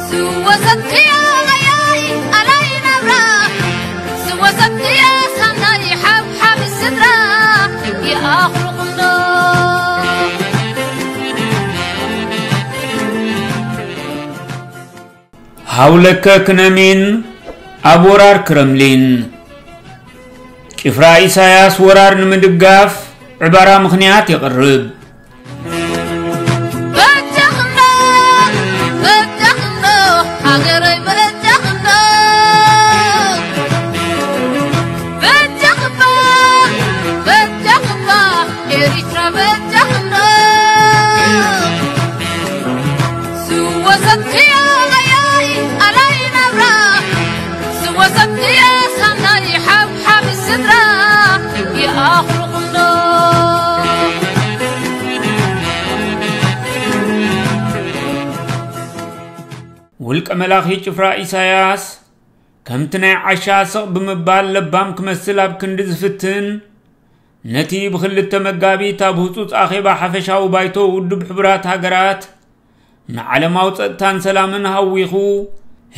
ስወሰትክዮ ቀያይ ኣላይ ናብራ፣ ስወሰትክዮ ሳናይ ሓብሓብ ስድራ፣ ይኣኽልኹም ዶ? ሃውለከ ክነሚን ኣብ ወራር ክረምሊን። ጭፍራ ኢሳያስ ወራር ንምድጋፍ ዕባራ ምኽንያት የቕርብ። በጃኽና፣ በጃኽና፣ ሃገረይ በጃኽና። በጃኽባ፣ በጃኽባ፣ ኤሪትራ በጃኽና። ስወሰትክዮ ቀያይ ኣላይ ናብራ፣ ስወሰትክዮ ሳናይ ሓብሓብ ስድራ፣ ይኣኽልኹም ዶ? ውልቀ መላኺ ጭፍራ ኢሳያስ፣ ከምቲ ናይ ዓሻ ስቕ ብምባል ለባም ክመስል ኣብ ክንዲ ዝፍትን፣ ነቲ ብክልተ መጋቢት ኣብ ህጹጽ ኣኼባ ሓፈሻዊ ባይቶ ውድብ ሕቡራት ሃገራት ንዓለማዊ ጸጥታን ሰላምን ሃዊኹ፣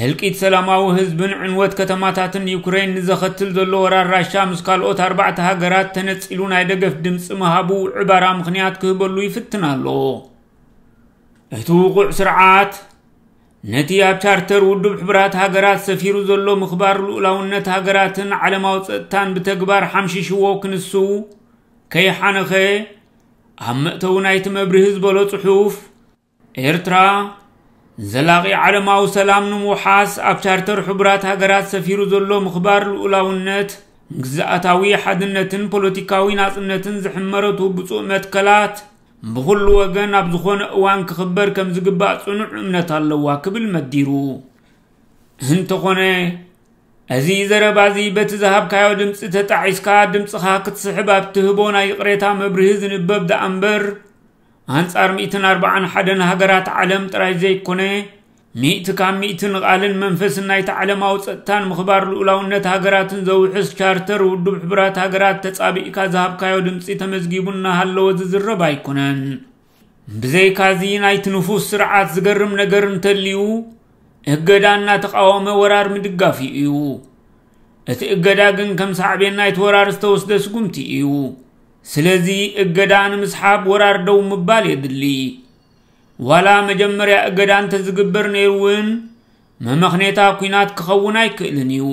ህልቂት ሰላማዊ ህዝብን ዕንወት ከተማታትን ዩክሬን ንዘኸትል ዘሎ ወራር ራሻ ምስ ካልኦት ኣርባዕተ ሃገራት ተነጺሉ ናይ ደገፍ ድምጺ ምሃቡ ዕባራ ምኽንያት ክህበሉ ይፍትን ኣሎ። እቲ ውቑዕ ስርዓት፣ ነቲ ኣብ ቻርተር ውድብ ሕቡራት ሃገራት ሰፊሩ ዘሎ ምኽባር ልኡላውነት ሃገራትን ዓለማዊ ጸጥታን ብተግባር ሓምሺሽዎ ክንሱ ከይሓነኸ፣ ኣብ መእተዊ ናይቲ መብርሂ ዝበሎ ጽሑፍ፣ ኤርትራ፣ ዘላቒ ዓለማዊ ሰላም ንምውሓስ ኣብ ቻርተር ሕቡራት ሃገራት ሰፊሩ ዘሎ ምኽባር ልኡላውነት፣ ግዝኣታዊ ሓድነትን ፖለቲካዊ ናጽነትን ዝሕመረቱ ብጹእ መትከላት፣ ብኹሉ ወገን ኣብ ዝኾነ እዋን ክኽበር ከም ዝግባእ ጽኑዕ እምነት ኣለዋ ክብል መዲሩ። እንተኾነ፣ እዚ ዘረባ እዚ በቲ ዝሃብካዮ ድምጺ ተጣዒስካ ድምጽኻ ክትስሕብ ኣብ ትህቦ ናይ ይቕሬታ መብርሂ ዝንበብ ደኣ እምበር፣ ኣንጻር ሚእትን ኣርባዓን ሓደን ሃገራት ዓለም ጥራይ ዘይኮነ፣ ሚእቲ ካብ ሚእቲ ንቓልን መንፈስን ናይቲ ዓለማዊ ጸጥታን ምኽባር ልኡላውነት ሃገራትን ዘውሕስ ቻርተር ውድብ ሕቡራት ሃገራት ተጻቢእካ ዝሃብካዮ ድምጺ ተመዝጊቡ እናሃለወ ዝዝረብ ኣይኮነን። ብዘይካዚ ናይቲ ንፉስ ስርዓት ዝገርም ነገር እንተልዩ፣ እገዳ እናተቃወመ ወራር ምድጋፍ እዩ። እቲ እገዳ ግን ከም ሳዕቤን ናይቲ ወራር ዝተወስደ ስጉምቲ እዩ። ስለዚ እገዳ ንምስሓብ ወራር ደው ምባል የድሊ። ዋላ መጀመርያ እገዳ እንተዝግበር ነይሩ እውን፣ መመኽኔታ ኲናት ክኸውን ኣይክእልን እዩ።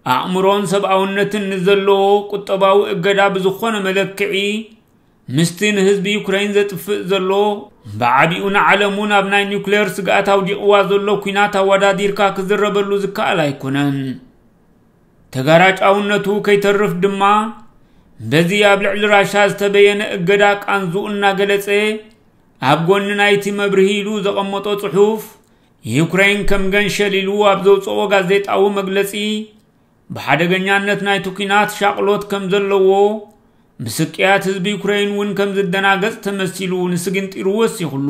ኣእምሮን ሰብኣውነትን ንዘለዎ ቁጠባዊ እገዳ ብዝኾነ መለክዒ፣ ምስቲ ንህዝቢ ዩክረይን ዘጥፍእ ዘሎ፣ ብዓቢኡ ንዓለም እውን ኣብ ናይ ኒውክሌር ስግኣት ኣውዲቕዋ ዘሎ ኲናት ኣወዳዲርካ ክዝረበሉ ዝከኣል ኣይኮነን። ተጋራጫውነቱ ከይተርፍ ድማ፣ በዚ ኣብ ልዕሊ ራሻ ዝተበየነ እገዳ ቃንዝኡ እናገለጸ፣ ኣብ ጎኒ ናይቲ መብርሂ ኢሉ ዘቐመጦ ጽሑፍ፣ ዩክረይን ከም ገንሸል ኢሉ ኣብ ዘውጽኦ ጋዜጣዊ መግለጺ፣ ብሓደገኛነት ናይቲ ኲናት ሻቕሎት ከም ዘለዎ፣ ብስቅያት ህዝቢ ዩክረይን እውን ከም ዝደናገጽ ተመሲሉ ንስግንጢሩ ወሲኹሉ።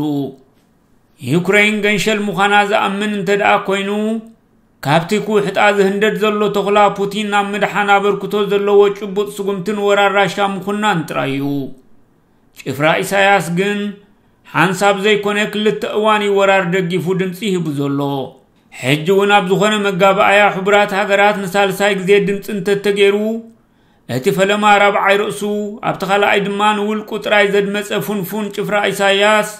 ዩክረይን ገንሸል ምዃና ዝኣምን እንተ ደኣ ኮይኑ፣ ካብቲ ክውሕጣ ዝህንደድ ዘሎ ተኹላ ፑቲን ናብ ምድሓን ኣበርክቶ ዘለዎ ጭቡጥ ስጉምትን ወራር ራሻ ምኹናን ጥራይ እዩ። ጭፍራ ኢሳያስ ግን ሓንሳብ ዘይኮነ ክልተ እዋን እዩ ወራር ደጊፉ ድምጺ ሂቡ ዘሎ። ሕጂ እውን ኣብ ዝኾነ መጋባእያ ሕቡራት ሃገራት ንሳልሳይ ግዜ ድምጺ እንተተገይሩ፣ እቲ ፈለማ ራብዓይ ርእሱ፣ ኣብቲ ካልኣይ ድማ ንውልቁ ጥራይ ዘድመጸ ፉንፉን ጭፍራ ኢሳያስ፣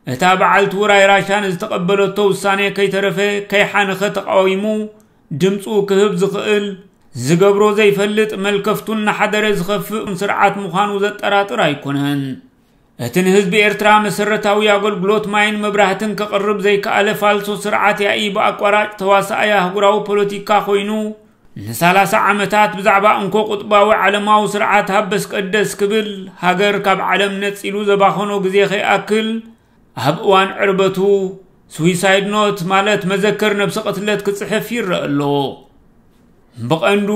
እታ በዓልቲ ውራይ ራሻ ንዝተቐበለቶ ውሳኔ ከይተረፈ ከይሓነኸ ተቃዊሙ ድምጹ ክህብ ዝኽእል፣ ዝገብሮ ዘይፈልጥ መልከፍቱ እናሓደረ ዝኸፍእ ስርዓት ምዃኑ ዘጠራጥር ኣይኮነን። እቲ ንህዝቢ ኤርትራ መሰረታዊ ኣገልግሎት ማይን መብራህትን ከቕርብ ዘይከኣለ ፋልሶ ስርዓት ያኢ ብኣቋራጭ ተዋሳኣይ ኣህጉራዊ ፖለቲካ ኮይኑ፣ ንሳላሳ ዓመታት ብዛዕባ እንኮ ቁጥባዊ ዓለማዊ ስርዓት ሃበስ ቀደስ ክብል ሃገር ካብ ዓለም ነጺሉ ዘባኸኖ ግዜ ከይኣክል፣ ኣብ እዋን ዕርበቱ ስዊሳይድ ኖት ማለት መዘከር ነብሲ ቅትለት ክጽሕፍ ይረአ ኣሎ። ብቐንዱ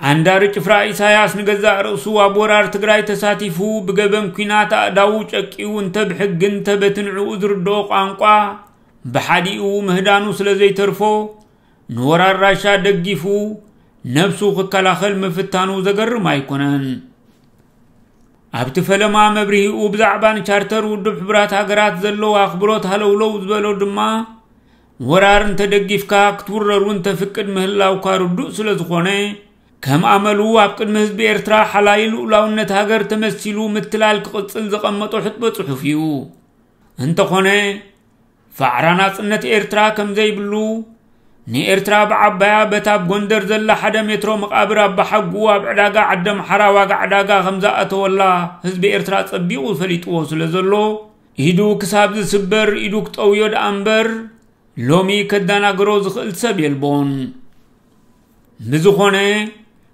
ዓንዳሪ ጭፍራ ኢሳያስ ንገዛእ ርእሱ ኣብ ወራር ትግራይ ተሳቲፉ ብገበን ኲናት ኣእዳዉ ጨቂዩ እንተ ብሕጊ እንተ በቲ ንዕኡ ዝርድኦ ቋንቋ ብሓዲኡ ምህዳኑ ስለ ዘይተርፎ ንወራር ራሻ ደጊፉ ነብሱ ክከላኸል ምፍታኑ ዘገርም ኣይኮነን። ኣብቲ ፈለማ መብርሂኡ ብዛዕባ ንቻርተር ውድብ ሕቡራት ሃገራት ዘለዎ ኣኽብሮት ሃለውለው ዝበሎ ድማ፣ ወራር እንተደጊፍካ ክትውረር እውን ተፍቅድ ምህላውካ ርዱእ ስለ ዝኾነ፣ ከም ኣመሉ ኣብ ቅድሚ ህዝቢ ኤርትራ ሓላዪ ልኡላውነት ሃገር ተመሲሉ ምትላል ክቕጽል ዘቐመጦ ሕጥበ ጽሑፍ እዩ። እንተኾነ፣ ፋዕራ ናጽነት ኤርትራ ከም ዘይብሉ፣ ንኤርትራ ብዓባያ በታ ኣብ ጎንደር ዘላ ሓደ ሜትሮ መቓብር ኣባሓጉ ኣብ ዕዳጋ ዓደምሓራ ዋጋ ዕዳጋ ከም ዝኣተወላ ህዝቢ ኤርትራ ጸቢቑ ፈሊጥዎ ስለ ዘሎ፣ ኢዱ ክሳብ ዝስበር ኢዱ ክጠውዮ ደኣ እምበር፣ ሎሚ ከዳናግሮ ዝኽእል ሰብ የልቦን። ብዝኾነ፣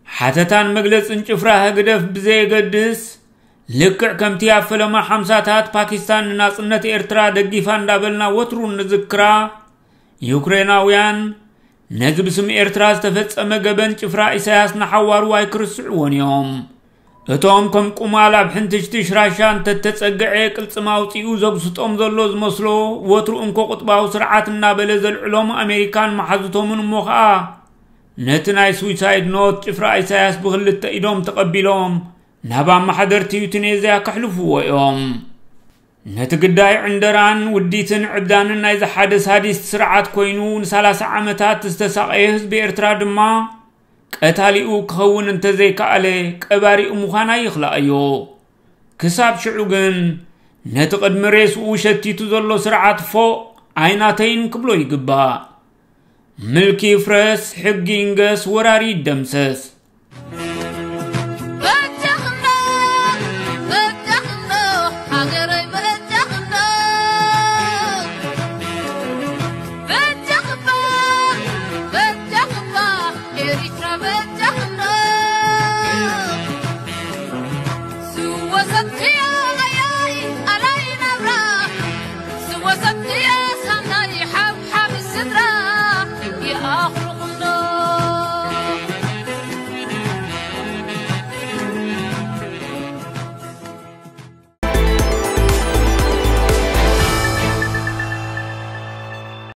ሓተታን መግለጽን ጭፍራ ህግደፍ ብዘየገድስ፣ ልክዕ ከምቲ ኣብ ፈለማ ሓምሳታት ፓኪስታን ንናጽነት ኤርትራ ደጊፋ እንዳበልና ወትሩ ንዝክራ፣ ዩክሬናውያን ነዚ ብስም ኤርትራ ዝተፈጸመ ገበን ጭፍራ ኢሳያስ ንሓዋሩ ኣይክርስዕዎን እዮም። እቶም ከም ቁማል ኣብ ሕንትሽትሽ ራሻ እንተተጸግዐ ቅልጽም ኣውጺኡ ዘጉስጦም ዘሎ ዝመስሎ፣ ወትሩ እንኮ ቁጥባዊ ስርዓት እናበለ ዘልዕሎም ኣሜሪካን መሓዙቶምን እሞ ኸኣ፣ ነቲ ናይ ሱይሳይድ ኖት ጭፍራ ኢሳያስ ብኽልተ ኢዶም ተቐቢሎም ናብ ኣመሓደርቲ ዩቲኔዝያ ከሕልፍዎ እዮም። ነቲ ግዳይ ዕንደራን ውዲትን ዕብዳንን ናይዚ ሓደ ሳዲስት ስርዓት ኮይኑ ንሰላሳ ዓመታት ዝተሳቐየ ህዝቢ ኤርትራ ድማ፣ ቀታሊኡ ክኸውን እንተዘይከኣለ፣ ቀባሪኡ ምዃን ኣይኽልኣዮ። ክሳብ ሽዑ ግን፣ ነቲ ቅድሚ ሬስኡ ሸቲቱ ዘሎ ስርዓት ፎእ ኣይናተይን ክብሎ ይግባእ። ምልኪ ይፍረስ፣ ሕጊ ይንገስ፣ ወራሪ ይደምሰስ።